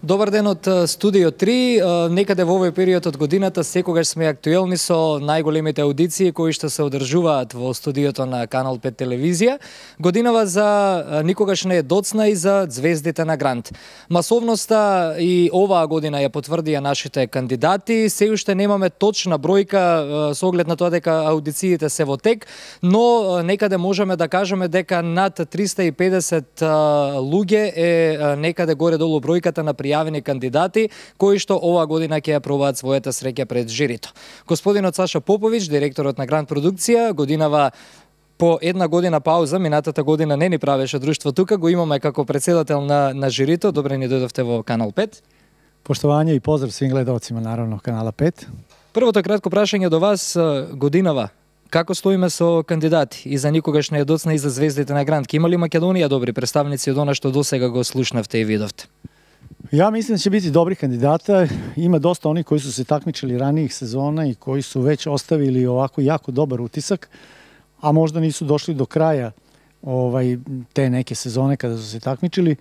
Добар ден од Студио 3. Некаде во овој период од годината секогаш сме актуелни со најголемите аудиции кои што се одржуваат во студиото на Канал 5 телевизија. Годинава за никогаш не е доцна и за звездите на Грант. Масовноста и оваа година ја потврдија нашите кандидати. Се уште немаме точна бројка со оглед на тоа дека аудициите се во тек, но некаде можеме да кажеме дека над 350 луѓе е некаде горе-долу бројката на пријавени кандидати кои што оваа година ќе ја пробаат својата среќа пред жирито. Господинот Саша Поповиќ, директорот на Грант продукција, годинава по една година пауза, минатата година не ни правеше друштво тука, го имаме како председател на жирито. Добре ни дојдовте во Канал 5. Поштовање и поздрав свим гледалцima наравно Канала 5. Првото кратко прашање до вас, годинава како стоиме со кандидати и за никогаш не е доцна и за звездите на Грант? Има ли Македонија добри представници од она што досега го слушнавте и видовте? Ja mislim da će biti dobrih kandidata. Ima dosta onih koji su se takmičili ranijih sezona i koji su već ostavili ovako jako dobar utisak, a možda nisu došli do kraja te neke sezone kada su se takmičili.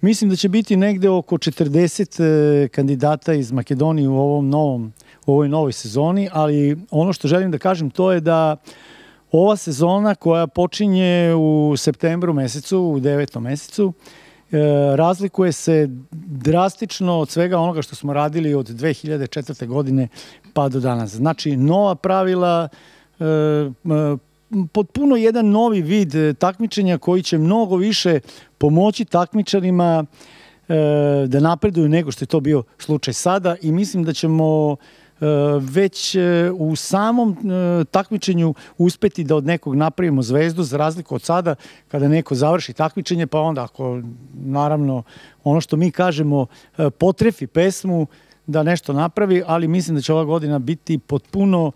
Mislim da će biti negde oko 40 kandidata iz Makedonije u ovoj novoj sezoni, ali ono što želim da kažem to je da ova sezona koja počinje u septembru mesecu, u 9. mesecu, razlikuje se drastično od svega onoga što smo radili od 2004. godine pa do danas. Znači, nova pravila, potpuno jedan novi vid takmičenja koji će mnogo više pomoći takmičarima da napreduju nego što je to bio slučaj sada i mislim da ćemo već u samom takmičenju uspeti da od nekog napravimo zvezdu, za razliku od sada kada neko završi takmičenje, pa onda ako naravno ono što mi kažemo potrefi pesmu da nešto napravi, ali mislim da će ova godina biti potpuno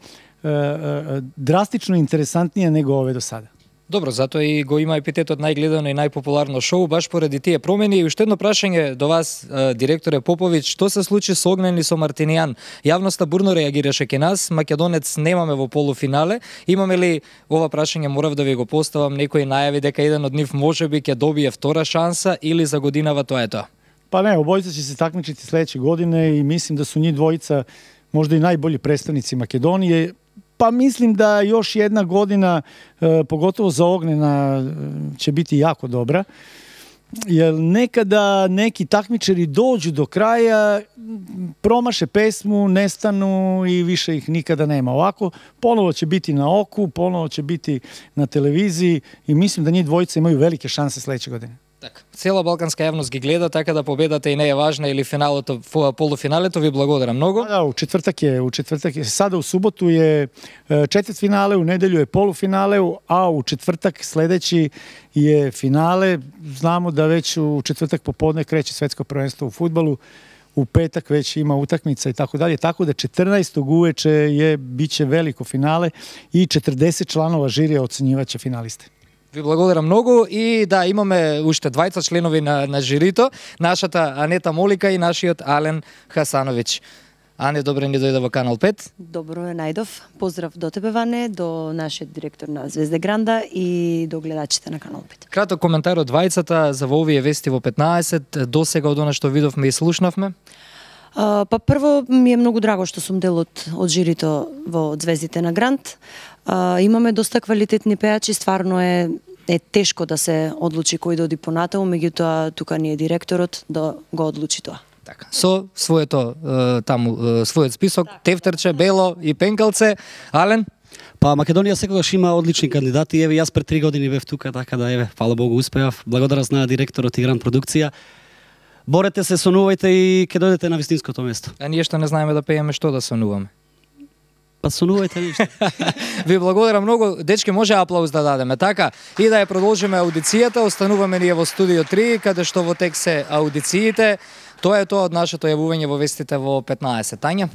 drastično interesantnija nego ove do sada. Добро, затоа и го има епитетот најгледано и најпопуларно шоу баш поради тие промени. И уште едно прашање до вас, директоре Поповиќ, што се случи со Огнен и со Мартинијан? Јавноста бурно реагираше ке нас, македонец немаме во полуфинале. Имаме ли, ова прашање морав да ви го поставам, некои најави дека еден од нив можеби ќе добие втора шанса или за годинава тоа е тоа? Pa ne, obojica će se takmičiti sledeće godine i mislim da su njih dvojica možda i najbolji predstavnici Makedonije. Pa mislim da još jedna godina, pogotovo za Ognjena, će biti jako dobra. Jer nekada neki takmičari dođu do kraja, promaše pesmu, nestanu i više ih nikada nema. Ovako, ponovo će biti na oku, ponovo će biti na televiziji i mislim da njih dvojica imaju velike šanse sledeće godine. Така, цела балканска јавност ги гледа, така да победата и не е важна или финалото, полуфиналето. Ви благодарам многу. Да, у четвртак е. Сада у суботу je četvrtfinale, u nedelju je polufinale, a u četvrtak sledeći je finale. Znamo da već u četvrtak popodne kreće svetsko prvenstvo u fudbalu, u petak već ima utakmica i tako dalje, tako da 14. uveče biće veliko finale i 40 članova žirija ocenjivaće finaliste. Ви благодарам многу и да, имаме уште двајца членови на жирито, нашата Анета Молика и нашиот Ален Хасановиќ. Ане, добре ни дојде во Канал 5. Добро ме најдов. Поздрав до тебе, Ване, до нашиот директор на Звезде Гранда и до гледачите на Канал 5. Краток коментар од двајцата за во овие вести во 15, досега од она што видовме и слушнавме. Па прво ми е многу драго што сум дел од жирито во Звездите на Грант. Имаме доста квалитетни пејачи, стварно е тешко да се одлучи кој да оди понатаму, меѓутоа тука ни е директорот да го одлучи тоа. Така, со својот список, тефтерче, бело и пенкалце. Ален? Па Македонија секогаш има одлични кандидати. Еве јас пред 3 години бев тука, така да еве, фала Богу, успеав. Благодарам на директорот и Грант продукција. Борете се, сонувајте и ќе дојдете на вистинското место. А ние што не знаеме да пееме, што да сонуваме? Па сонувајте нешто. Ви благодарам многу. Дечки, може аплауз да дадеме, така? И да ја продолжиме аудицијата. Остануваме ние во Студио 3, каде што во тек се аудициите. Тоа е тоа од нашето јавување во вестите во 15. Тања?